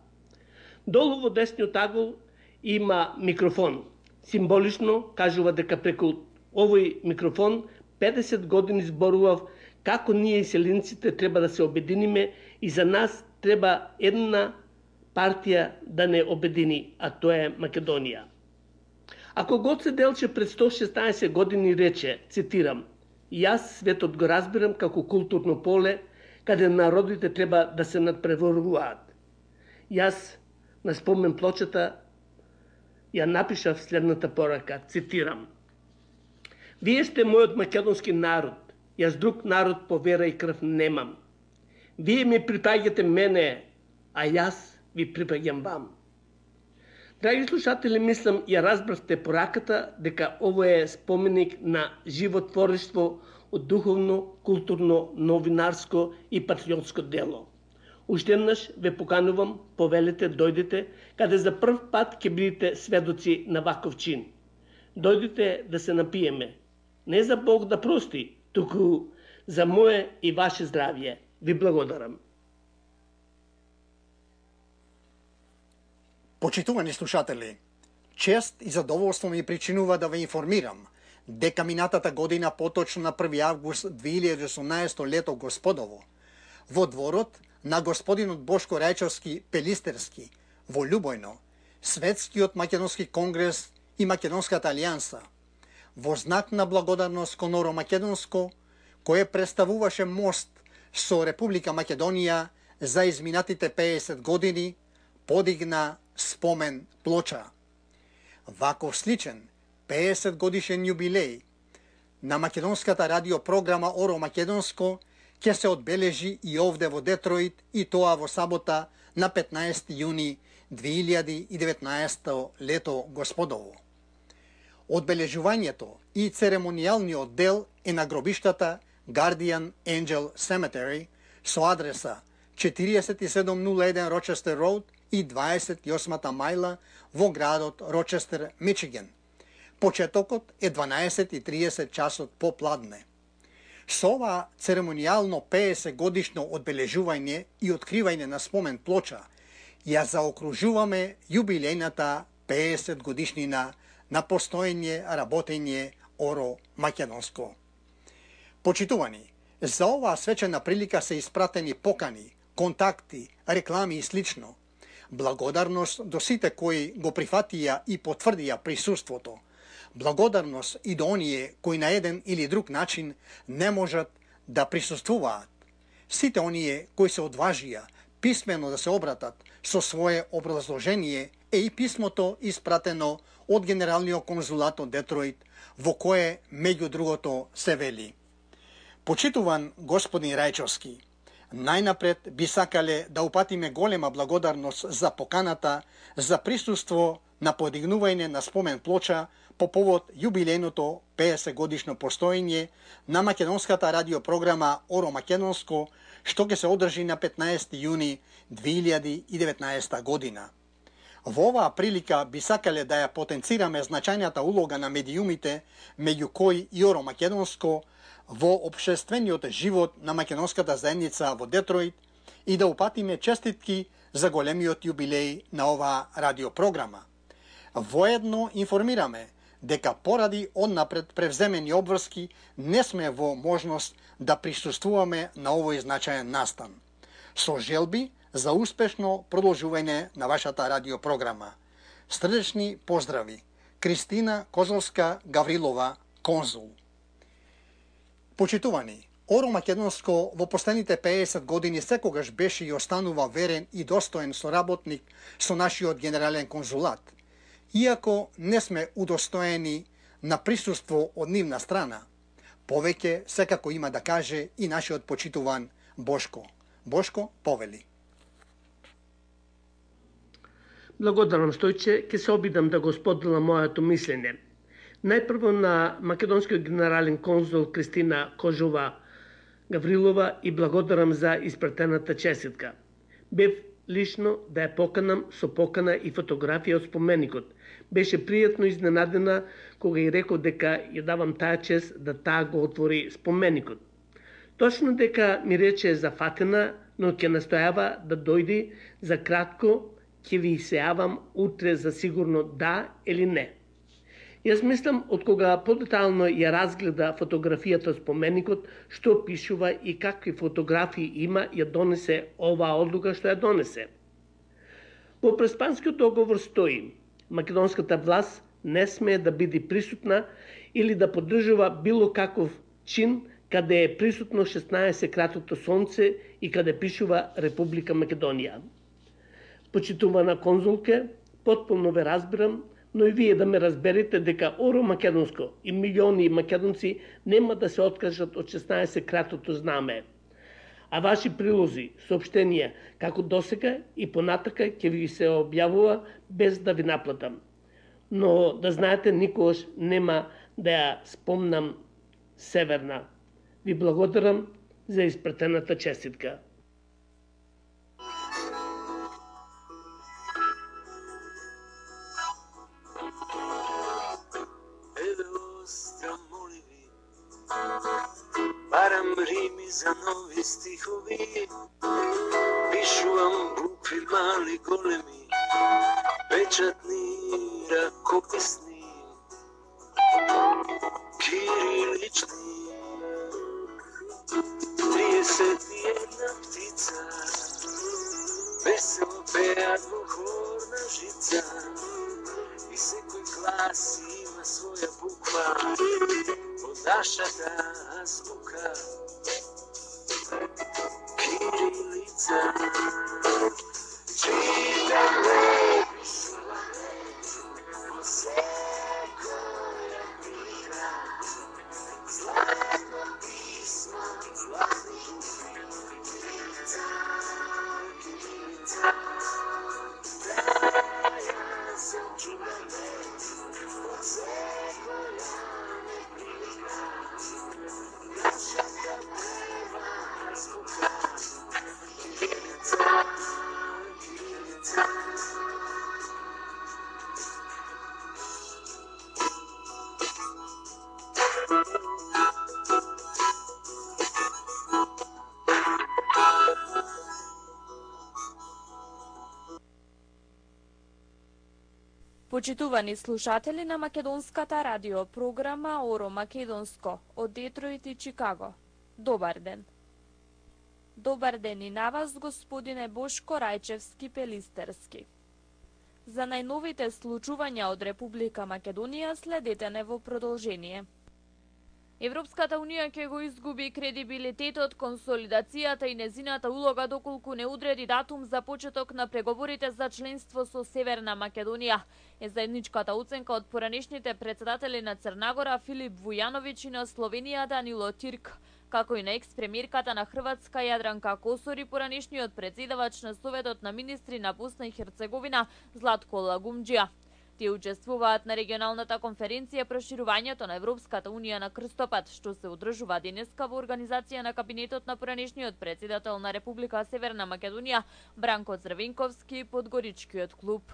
[SPEAKER 1] Долу во десниот агол има микрофон. Символично кажува дека преку овој микрофон педесет години зборував како ние селенците треба да се обединиме и за нас треба една партија да не обедини, а тоа е Македонија. Ако Гоце Делчев пред сто и шеснаесет години рече, цитирам, јас светот го разбирам како културно поле, каде народите треба да се надпреваруваат. Јас на спомен плочата ја напишав следната порака, цитирам. Вие сте мојот македонски народ, јас друг народ по вера и крв немам. Вие ми припаѓате мене, а јас ви припаѓам вам. Драги слушатели, мислам ја разбравте пораката дека ово е споменик на животворство од духовно, културно, новинарско и патриотско дело. Уште еднаш ве поканувам, повелете, дојдете, каде за прв пат ќе бидете сведоци на ваков чин. Дојдете да се напиеме. Не за Бог да прости, туку за мое и ваше здравје. Ви благодарам.
[SPEAKER 10] Почитувани слушатели, чест и задоволство ми причинува да ве информирам дека минатата година, поточно на први август две илјади и осумнаесето лето господово, во дворот на господинот Бошко Рајчовски Пелистерски во Љубојно, Светскиот македонски конгрес и Македонската алијанса, во знак на благодарност кон Оро Македонско, кое представуваше мост со Република Македонија за изминатите педесет години, подигна спомен плоча. Ваков сличен педесет годишен јубилеј на македонската радиопрограма Оро Македонско ќе се одбележи и овде во Детройт, и тоа во сабота на петнаесети јуни две илјади и деветнаесето лето господово. Одбележувањето и церемонијалниот дел е на гробиштата Guardian Angel Cemetery со адреса четириесет и седум нула еден Рочестер Роуд и дваесет и осмата мајла во градот Рочестер, Мичиген. Почетокот е дванаесет и триесет часот попладне. Со ова церемонијално педесет годишно одбележување и откривање на спомен плоча ја заокружуваме јубилејната педесет годишнина на постоење работење Оро Македонско. Почитувани, за оваа свечена прилика се испратени покани, контакти, реклами и слично. Благодарност до сите кои го прифатија и потврдија присуството. Благодарност и до оние кои на еден или друг начин не можат да присуствуваат. Сите оние кои се одважија писмено да се обратат со свое образложение е и писмото испратено од Генералниот конзулат од Детройт, во кое, меѓу другото, се вели: Почитуван господин Рајчовски, најнапред би сакале да упатиме голема благодарност за поканата за присуство на подигнување на спомен плоча по повод јубилејното педесет годишно постоење на македонската радиопрограма Оро Македонско, што ќе се одржи на петнаесети јуни две илјади и деветнаесета година. Во оваа прилика би сакале да ја потенцираме значајната улога на медиумите, меѓу кои и Оро Македонско, во општествениот живот на македонската заедница во Детройт и да упатиме честитки за големиот јубилеј на оваа радиопрограма. Воедно информираме дека поради однапред превземени обврски не сме во можност да присуствуваме на овој значаен настан. Со желби за успешно продолжување на вашата радиопрограма. Срдечни поздрави. Кристина Козовска Гаврилова, конзул. Почитувани, Оро Македонско во последните педесет години секогаш беше и останува верен и достоен соработник со нашиот генерален конзулат. Иако не сме удостоени на присуство од нивна страна, повеќе секако има да каже и нашиот почитуван Бошко. Бошко, повели.
[SPEAKER 1] Благодарам, Стојче, ќе се обидам да го споделам моето мислење. Најпрво на македонскиот генерален конзул Кристина Кожова Гаврилова и благодарам за испратената честитка. Бев лично да ја поканам со покана и фотографија од споменикот. Беше пријатно изненадена кога ја реков дека ја давам таа чест да таа го отвори споменикот. Точно дека ми рече зафатена, но ќе настојава да дојди за кратко, ќе ви се јавам утре за сигурно да или не. Јас мислам, од кога подетално ја разгледа фотографијата од споменикот, што пишува и какви фотографии има, ја донесе оваа одлука што ја донесе. Во Преспанскиот договор стои: македонската власт не смее да биде присутна или да поддржува било каков чин каде е присутно шеснаесет кратото сонце и каде пишува Република Македонија. Почитувана конзулке, потполно ве разбирам, но и вие да ме разберете дека Оро Македонско и милиони македонци нема да се откажат од шеснаесет кратото знаме. А ваши прилози, соопштенија, како досега и понатака ќе ви се објавува без да ви наплатам. Но да знаете, никогаш нема да ја спомнам Северна. Ви благодарам за испратената честитка.
[SPEAKER 20] Барам рими за нови стихови, пишувам букви мали големи, печатни ракописни, кирилични. Триесет и една птица весело пеат во хорна жица и секој глас има своја буква во нашата азбука. Кирилица. Читам лепи слове во секоја книга, златно писмо, златни букви. Кирилица, кирилица, да ја сочувам во секоја неприлика. Нашата прва азбука. Кирилица, кирилица.
[SPEAKER 21] Почитувани слушатели на македонската радио програма Оро Македонско од Детройт и Чикаго. Добар ден. Добар ден и на вас, господине Бошко Рајчевски-Пелистерски. За најновите случувања од Република Македонија следете не во продолжение. Европската Унија ќе го изгуби кредибилитетот, консолидацијата и незината улога доколку не одреди датум за почеток на преговорите за членство со Северна Македонија. Е заедничката оценка од поранешните председатели на Црнагора Филип Вујановиќ и на Словенија Данило Тирк, како и на екс-премиерката на Хрватска Јадранка Косор и поранешниот председавач на Советот на министри на Босна и Херцеговина Златко Лагумџија. Тие учествуваат на регионалната конференција Проширувањето на Европската Унија на крстопат, што се одржува денеска во организација на кабинетот на поранешниот председател на Република Северна Македонија Бранко Црвенковски и Подгоричкиот клуб.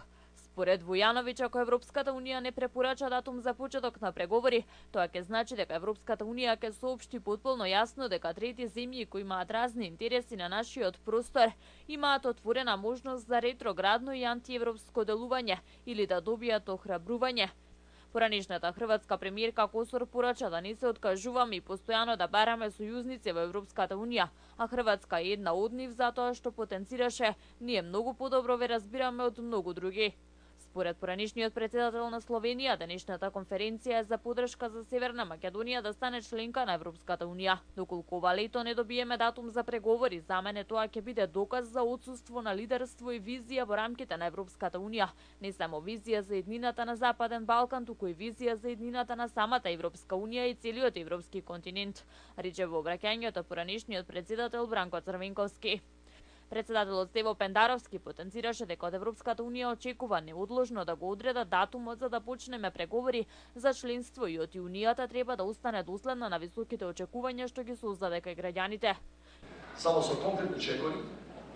[SPEAKER 21] Според Вујановиќ, ако Европската Унија не препорача датум за почеток на преговори, тоа ќе значи дека Европската Унија ќе соопшти потполно јасно дека трети земји кои имаат разни интереси на нашиот простор имаат отворена можност за ретроградно и антиевропско делување или да добијат охрабрување. Поранешната хрватска премиерка Косор порача да не се откажуваме и постојано да бараме сојузници во Европската Унија, а Хрватска е една од нив затоа што потенцираше ние многу подобро ве разбираме од многу други. Според поранешниот председател на Словенија, денешната конференција е за подршка за Северна Македонија да стане членка на Европската Унија. Доколку ова лето не добиеме датум за преговори, за мене тоа ќе биде доказ за отсуство на лидерство и визија во рамките на Европската Унија. Не само визија за еднината на Западен Балкан, туку и визија за еднината на самата Европска Унија и целиот европски континент, рече во обраќањето поранешниот председател Бранко Црвенковски. Председателот Стево Пендаровски потенцираше дека од Европската унија очекува неодложно да го одредат датумот за да почнеме преговори за членство и од Унијата треба да остане доследна на високите очекувања што ги создаде кај граѓаните.
[SPEAKER 2] Само со конкретни чекори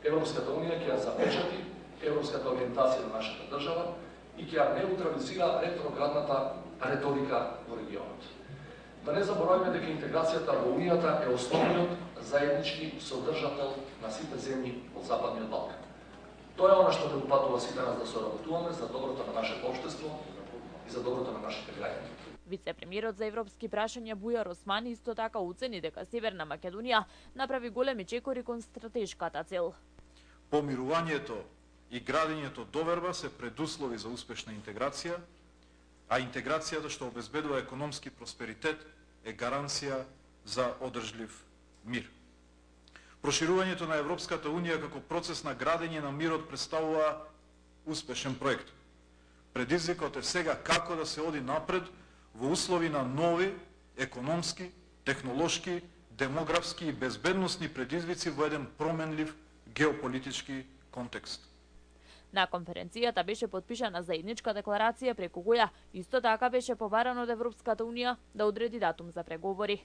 [SPEAKER 2] Европската унија ќе ја запечати европската ориентација на нашата држава и ќе ја неутрализира ретроградната реторика во регионот. Да не забораваме дека интеграцијата во Унијата е основниот заеднички содржател на сите земји од Западниот Балкан. Тоа е она што не упатува сите нас да соработуваме за доброто на нашето општество и за доброто на нашите граѓани.
[SPEAKER 21] Вице-премиерот за европски прашања Бујар Османи исто така оцени дека Северна Македонија направи големи чекори кон стратешката цел.
[SPEAKER 22] Помирувањето и градењето доверба се предуслови за успешна интеграција, а интеграцијата што обезбедува економски просперитет е гаранција за одржлив мир. Проширувањето на Европската унија како процес на градење на мирот представува успешен проект. Предизвикот е сега како да се оди напред во услови на нови економски, технолошки, демографски и безбедносни предизвици во еден променлив геополитички контекст.
[SPEAKER 21] На конференцијата беше потпишана заедничка декларација преку која исто така беше побарано од Европската унија да одреди датум за преговори.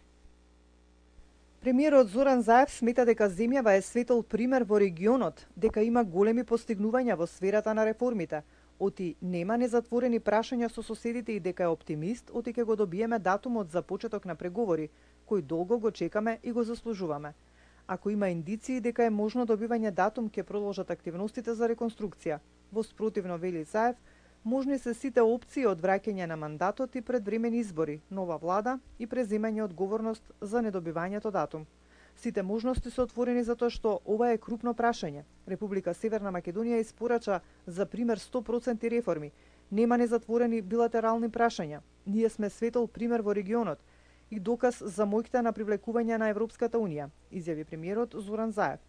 [SPEAKER 23] Премиерот Зоран Заев смета дека земјава е светол пример во регионот, дека има големи постигнувања во сферата на реформите, оти нема незатворени прашања со соседите и дека е оптимист, оти ќе го добиеме датумот за почеток на преговори, кој долго го чекаме и го заслужуваме. Ако има индиции дека е можно добивање датум, ќе продолжат активностите за реконструкција. Во спротивно, вели Заев, можни се сите опции од враќање на мандатот и предвремени избори, нова влада и преземање одговорност за недобивањето датум. Сите можности се отворени затоа што ова е крупно прашање. Република Северна Македонија испорача за пример сто проценти реформи. Нема незатворени билатерални прашања. Ние сме светол пример во регионот и доказ за моќта на привлекување на Европската унија, изјави премиерот Зоран Заев.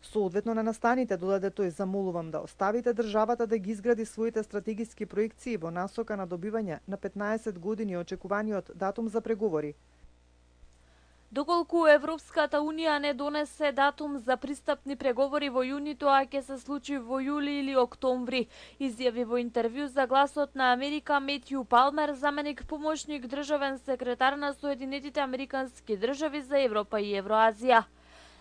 [SPEAKER 23] Соодветно на настаните, додаде тој, замолувам да оставите државата да ги изгради своите стратегиски проекции во насока на добивање на петнаесет години очекуваниот датум за преговори.
[SPEAKER 21] Доколку Европската унија не донесе датум за пристапни преговори во јуни, тоа ќе се случи во јули или октомври, изјави во интервју за Гласот на Америка Метју Палмер, заменик помошник државен секретар на Соединетите Американски држави за Европа и Евроазија.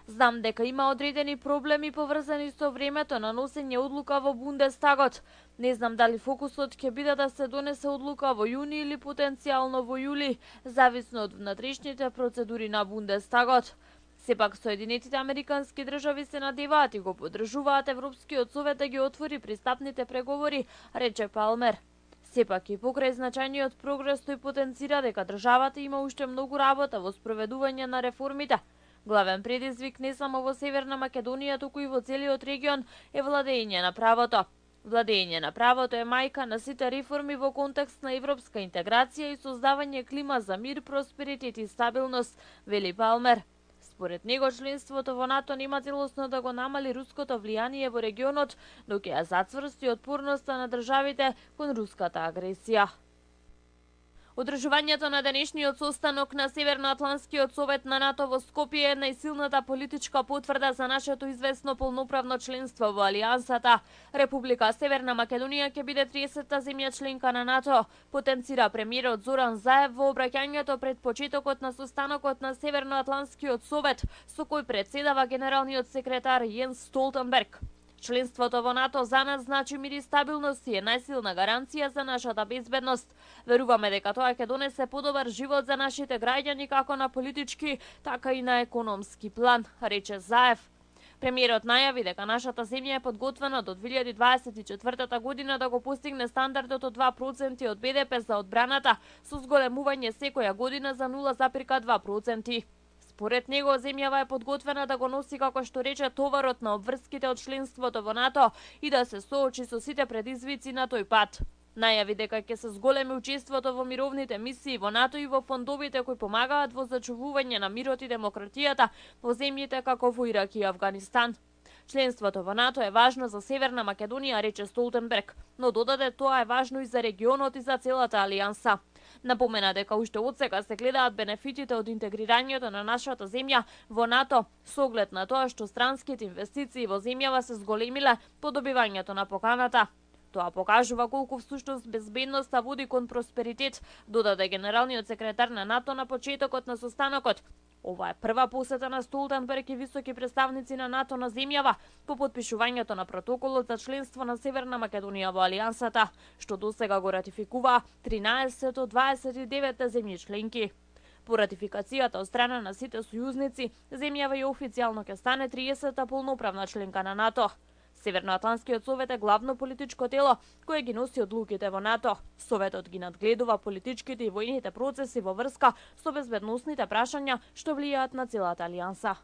[SPEAKER 21] Знам дека има одредени проблеми поврзани со времето на носење одлука во Бундестагот. Не знам дали фокусот ќе биде да се донесе одлука во јуни или потенцијално во јули, зависно од внатрешните процедури на Бундестагот. Сепак Соединетите Американски држави се надеваат и го поддржуваат Европскиот совет да ги отвори пристапните преговори, рече Палмер. Сепак и покрај значајниот прогрес тој потенцира дека државата има уште многу работа во спроведување на реформите. Главен предизвик не само во Северна Македонија, туку и во целиот регион е владење на правото. Владење на правото е мајка на сите реформи во контекст на европска интеграција и создавање клима за мир, просперитет и стабилност, вели Палмер. Според него, членството во НАТО нема целосно да го намали руското влијание во регионот, но ќе ја зацврсти отпорноста на државите кон руската агресија. Одржувањето на денешниот состанок на Северноатланскиот совет на НАТО во Скопје е најсилната политичка потврда за нашето известно полноправно членство во Алијансата. Република Северна Македонија ќе биде триесетта земја членка на НАТО, потенцира премиерот Зоран Заев во обраќањето пред почетокот на состанокот на Северноатланскиот совет, со кој председава генералниот секретар Јенс Столтенберг. Членството во НАТО за нас значи мир и стабилност и е најсилна гаранција за нашата безбедност. Веруваме дека тоа ќе донесе подобар живот за нашите граѓани како на политички, така и на економски план, рече Заев. Премиерот најави дека нашата земја е подготвена до две илјади дваесет и четвртата година да го постигне стандардот од два проценти од Б Д П за одбраната, со зголемување секоја година за нула запирка два проценти. Според него, земјава е подготвена да го носи, како што рече, товарот на обврските од членството во НАТО и да се соочи со сите предизвици на тој пат. Најави дека ќе се зголеми учеството во мировните мисии во НАТО и во фондовите кои помагаат во зачувување на мирот и демократијата во земјите како во Ирак и Авганистан. Членството во НАТО е важно за Северна Македонија, рече Столтенберг, но додаде тоа е важно и за регионот и за целата алијанса. Напомена дека уште од сега се гледаат бенефитите од интегрирањето на нашата земја во НАТО, со оглед на тоа што странските инвестиции во земјава се зголемиле по добивањето на поканата. Тоа покажува колку всушност безбедноста води кон просперитет, додаде генералниот секретар на НАТО на почетокот на состанокот. Ова е прва посета на Столтенберг и високи представници на НАТО на земјава по потпишувањето на протоколот за членство на Северна Македонија во Алијансата, што досега го ратификуваа тринаесет од дваесет и девет земји членки. По ратификацијата од страна на сите сојузници, земјава и официјално ќе стане триесета полноправна членка на НАТО. Северноатлантскиот совет е главно политичко тело кое ги носи одлуките во НАТО. Советот ги надгледува политичките и војните процеси во врска со безбедносните прашања што влијаат на целата алијанса.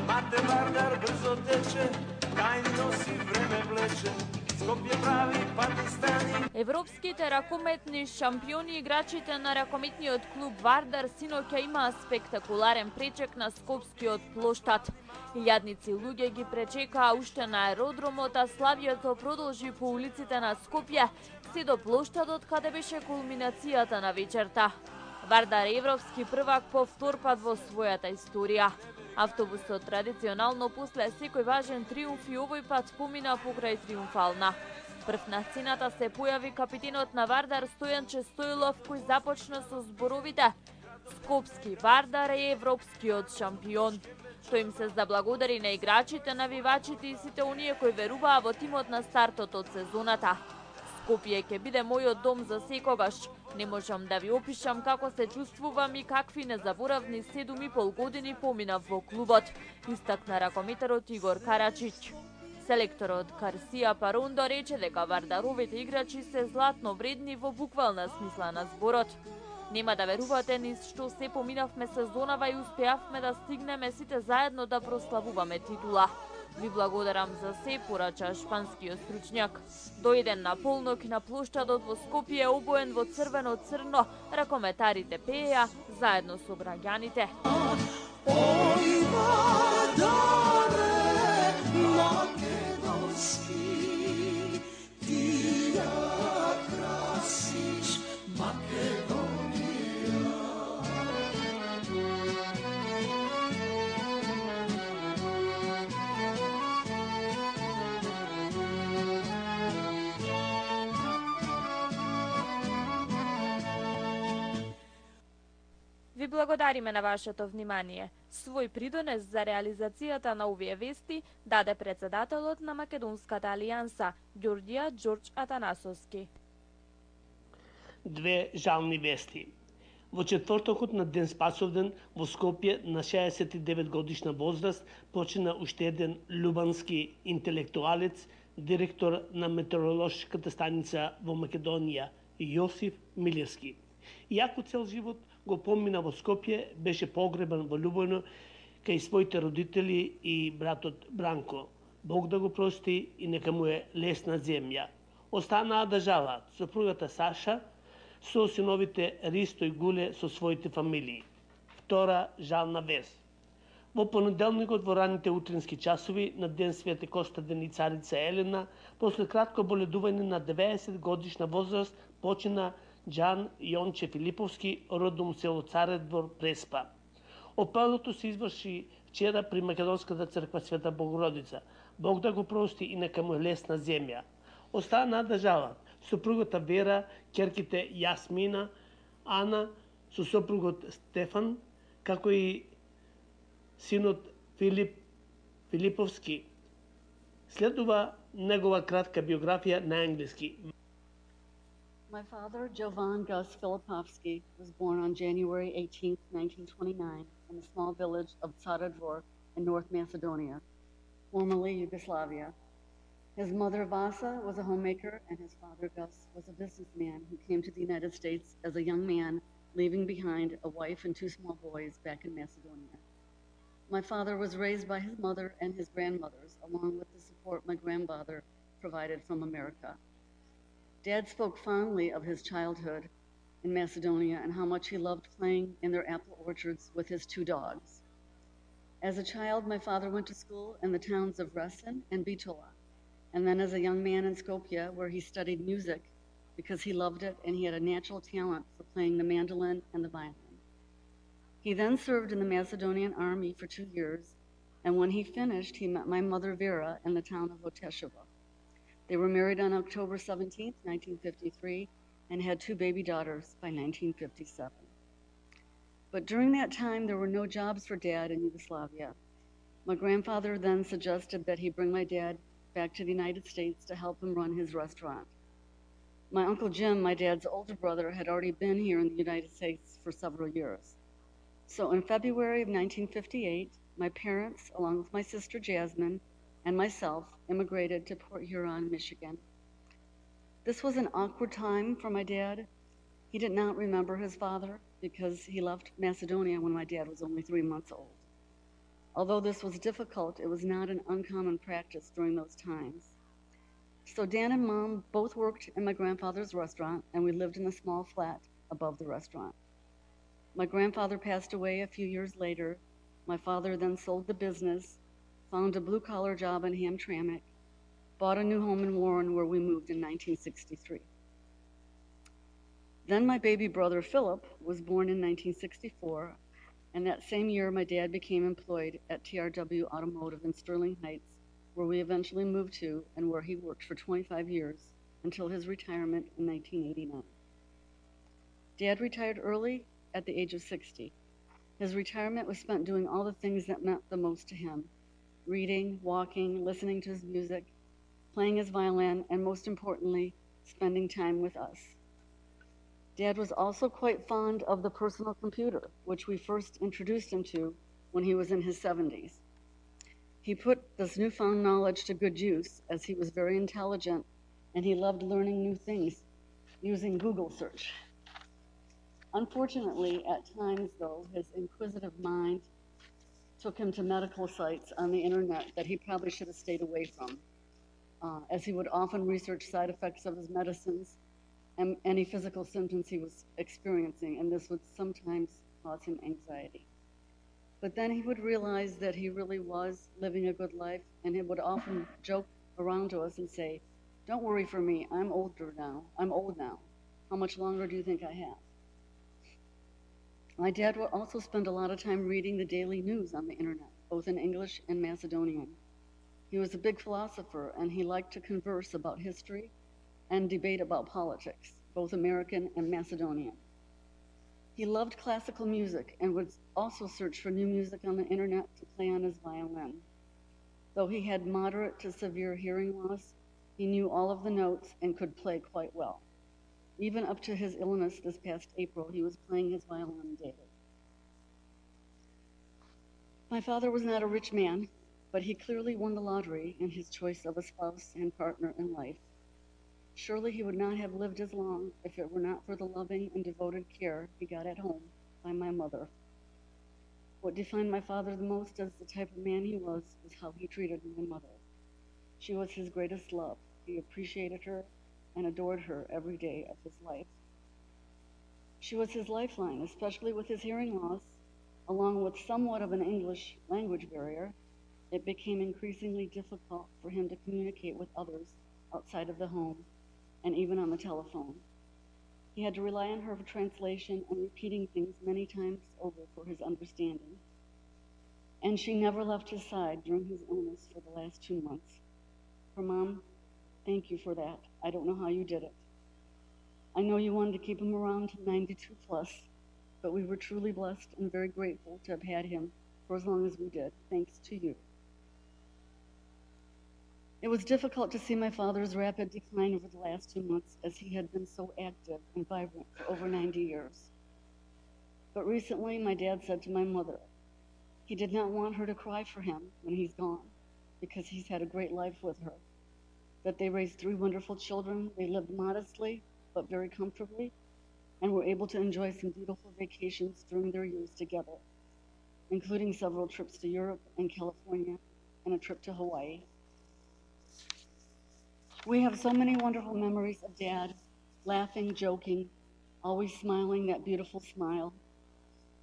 [SPEAKER 18] Мате Вардар брзо тече, тај носи време влече. Скопје прави Пакистани.
[SPEAKER 21] Европските ракометни шампиони играчите на ракометниот клуб Вардар синоќа имаа спектакуларен пречек на скопскиот плоштад. Илјадници луѓе ги пречекаа уште на аеродромот, а славието продолжи по улиците на Скопје, се до плоштадот каде беше кулминацијата на вечерта. Вардар е европски првак по втор пат во својата историја. Автобусот традиционално после секој важен триумф и овој пат помина покрај Триумфална. Прв на сцената се појави капитенот на Вардар Стојанче Стоилов, кој започна со зборовите: Скопски Вардар е европскиот шампион. Тој им се заблагодари на играчите, навивачите и сите оние кои веруваа во тимот на стартот од сезоната. Скопје ќе биде мојот дом за секогаш. Не можам да ви опишам како се чувствувам и какви незаборавни седум и пол години поминав во клубот, истакна ракометарот Игор Карачич. Селекторот Карсија Парондо рече дека вардаровите играчи се златно вредни во буквална смисла на зборот. Нема да верувате низ што се поминавме сезонава и успеавме да стигнеме сите заедно да прославуваме титула. Ви благодарам за се, порача шпанскиот стручњак. Дојден на полнок на плоштадот во Скопје обоен во црвено-црно, ракометарите пееа заедно со граѓаните. Ви благодариме на вашето внимание. Свој придонес за реализацијата на овие вести даде председателот на Македонската алијанса, Ѓорѓија Ѓорѓ Атанасовски.
[SPEAKER 1] Две жални вести. Во четвртокот на Ден Спасовден во Скопје на шеесет и девет годишна возраст почина уште еден љубански интелектуалец, директор на метеоролошката станица во Македонија, Јосиф Милевски. Иако цел живот го помина во Скопје, беше погребан во Љубојно кај своите родители и братот Бранко. Бог да го прости и нека му е лесна земја. Останаа да жалат сопругата Саша со синовите Ристо и Гуле со своите фамилии. Втора жална вест. Во понеделникот во раните утрински часови на Ден Свети Костадин и царица Елена, после кратко боледување на деветдесет годишна возраст, почина Џан Јонче Филиповски, родом село Царев двор, Преспа. Опалото се изврши вчера при Македонската црква Света Богородица. Бог да го прости и нека му е лесна земја. Остана да жалат сопругата Вера, ќерките Јасмина, Ана, со сопругот Стефан, како и синот Филип Филиповски. Следува негова кратка биографија на англиски.
[SPEAKER 3] My father, Jovan Gus Filipovsky, was born on January eighteenth, nineteen twenty-nine, in the small village of Tsara Dvor in North Macedonia, formerly Yugoslavia. His mother, Vasa, was a homemaker, and his father, Gus, was a businessman who came to the United States as a young man, leaving behind a wife and two small boys back in Macedonia. My father was raised by his mother and his grandmothers, along with the support my grandfather provided from America. Dad spoke fondly of his childhood in Macedonia and how much he loved playing in their apple orchards with his two dogs. As a child, my father went to school in the towns of Resin and Bitola. and then as a young man in Skopje, where he studied music because he loved it and he had a natural talent for playing the mandolin and the violin. He then served in the Macedonian army for two years, and when he finished, he met my mother Vera in the town of Oteshova. They were married on October seventeenth, nineteen fifty-three, and had two baby daughters by nineteen fifty-seven. But during that time, there were no jobs for Dad in Yugoslavia. My grandfather then suggested that he bring my dad back to the United States to help him run his restaurant. My Uncle Jim, my dad's older brother, had already been here in the United States for several years. So in February of nineteen fifty-eight, my parents, along with my sister Jasmine and myself, immigrated to Port Huron, Michigan. This was an awkward time for my dad. He did not remember his father because he left Macedonia when my dad was only three months old. Although this was difficult, it was not an uncommon practice during those times. So Dan and Mom both worked in my grandfather's restaurant, and we lived in a small flat above the restaurant. My grandfather passed away a few years later. My father then sold the business, found a blue-collar job in Hamtramck, bought a new home in Warren where we moved in nineteen sixty-three. Then my baby brother Philip was born in nineteen sixty-four, and that same year my dad became employed at T R W Automotive in Sterling Heights, where we eventually moved to and where he worked for twenty-five years until his retirement in nineteen eighty-nine. Dad retired early at the age of sixty. His retirement was spent doing all the things that meant the most to him: reading, walking, listening to his music, playing his violin, and most importantly, spending time with us. Dad was also quite fond of the personal computer, which we first introduced him to when he was in his seventies. He put this newfound knowledge to good use, as he was very intelligent and he loved learning new things using Google search. Unfortunately, at times though, his inquisitive mind took him to medical sites on the internet that he probably should have stayed away from, uh, as he would often research side effects of his medicines and any physical symptoms he was experiencing, and this would sometimes cause him anxiety. But then he would realize that he really was living a good life, and he would often joke around to us and say, "Don't worry for me, I'm older now, I'm old now. How much longer do you think I have?" My dad would also spend a lot of time reading the daily news on the internet, both in English and Macedonian. He was a big philosopher, and he liked to converse about history and debate about politics, both American and Macedonian. He loved classical music and would also search for new music on the internet to play on his violin. Though he had moderate to severe hearing loss, he knew all of the notes and could play quite well. Even up to his illness this past April, he was playing his violin daily. My father was not a rich man, but he clearly won the lottery in his choice of a spouse and partner in life. Surely he would not have lived as long if it were not for the loving and devoted care he got at home by my mother. What defined my father the most as the type of man he was was how he treated my mother. She was his greatest love. He appreciated her and adored her every day of his life. She was his lifeline, especially with his hearing loss. Along with somewhat of an English language barrier, it became increasingly difficult for him to communicate with others outside of the home and even on the telephone. He had to rely on her for translation and repeating things many times over for his understanding. And she never left his side during his illness for the last two months. Her mom, thank you for that. I don't know how you did it. I know you wanted to keep him around to ninety-two plus, but we were truly blessed and very grateful to have had him for as long as we did, thanks to you. It was difficult to see my father's rapid decline over the last two months, as he had been so active and vibrant for over ninety years. But recently, my dad said to my mother, he did not want her to cry for him when he's gone, because he's had a great life with her, that they raised three wonderful children, they lived modestly, but very comfortably, and were able to enjoy some beautiful vacations during their years together, including several trips to Europe and California, and a trip to Hawaii. We have so many wonderful memories of Dad, laughing, joking, always smiling that beautiful smile.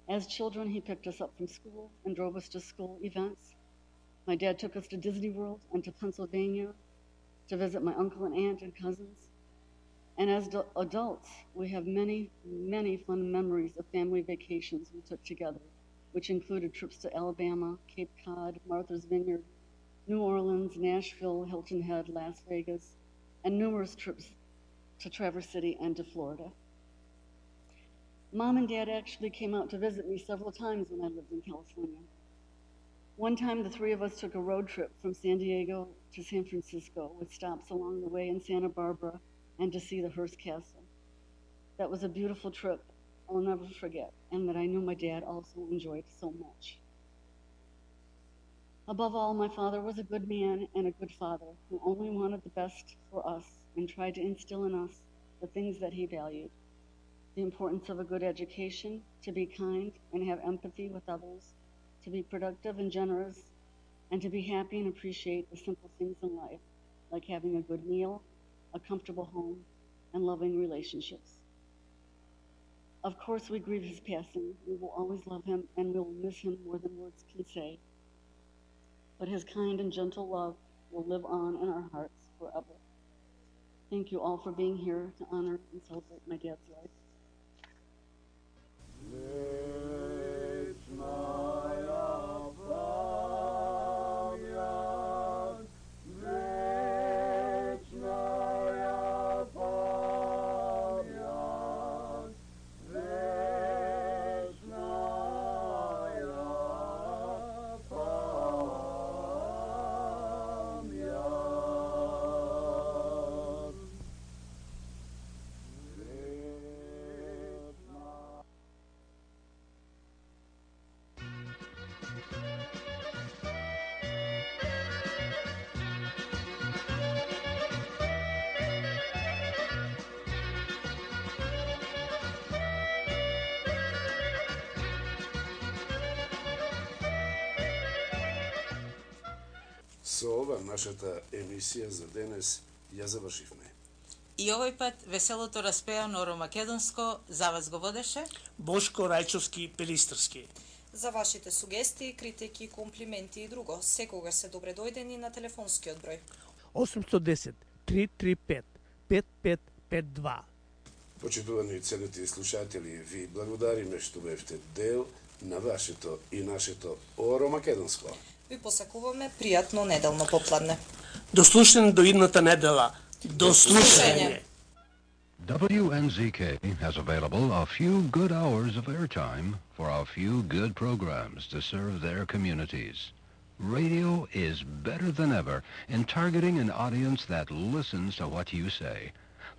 [SPEAKER 3] As children, he picked us up from school and drove us to school events. My dad took us to Disney World and to Pennsylvania. to visit my uncle and aunt and cousins. And as do- adults, we have many, many fun memories of family vacations we took together, which included trips to Alabama, Cape Cod, Martha's Vineyard, New Orleans, Nashville, Hilton Head, Las Vegas, and numerous trips to Traverse City and to Florida. Mom and Dad actually came out to visit me several times when I lived in California. One time, the three of us took a road trip from San Diego to San Francisco with stops along the way in Santa Barbara and to see the Hearst Castle. That was a beautiful trip I'll never forget, and that I knew my dad also enjoyed so much. Above all, my father was a good man and a good father who only wanted the best for us and tried to instill in us the things that he valued: the importance of a good education, to be kind and have empathy with others, to be productive and generous, and to be happy and appreciate the simple things in life, like having a good meal, a comfortable home, and loving relationships. Of course, we grieve his passing. We will always love him, and we will miss him more than words can say. But his kind and gentle love will live on in our hearts forever. Thank you all for being here to honor and celebrate my dad's life.
[SPEAKER 9] Со ова нашата емисија за денес ја завршивме.
[SPEAKER 4] И овој пат веселото распеано оромакедонско за вас го водеше
[SPEAKER 1] Бошко Рајчовски Пелистрски.
[SPEAKER 8] За вашите сугестии, критики, комплименти и друго, секогаш се добре дојдени на телефонскиот број
[SPEAKER 1] осум едно десет три три пет пет пет пет два.
[SPEAKER 9] Почитувани целите слушатели, ви благодариме што бевте дел на вашето и нашето Оромакедонско.
[SPEAKER 8] Ви посакуваме пријатно неделно попладне.
[SPEAKER 1] До слушање до идната недела. До слушање.
[SPEAKER 5] W N Z K has available a few good hours of airtime for a few good programs to serve their communities. Radio is better than ever in targeting an audience that listens to what you say.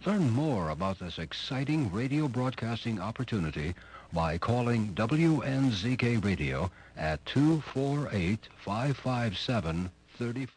[SPEAKER 5] Learn more about this exciting radio broadcasting opportunity by calling W N Z K Radio at two four eight, five five seven, three five.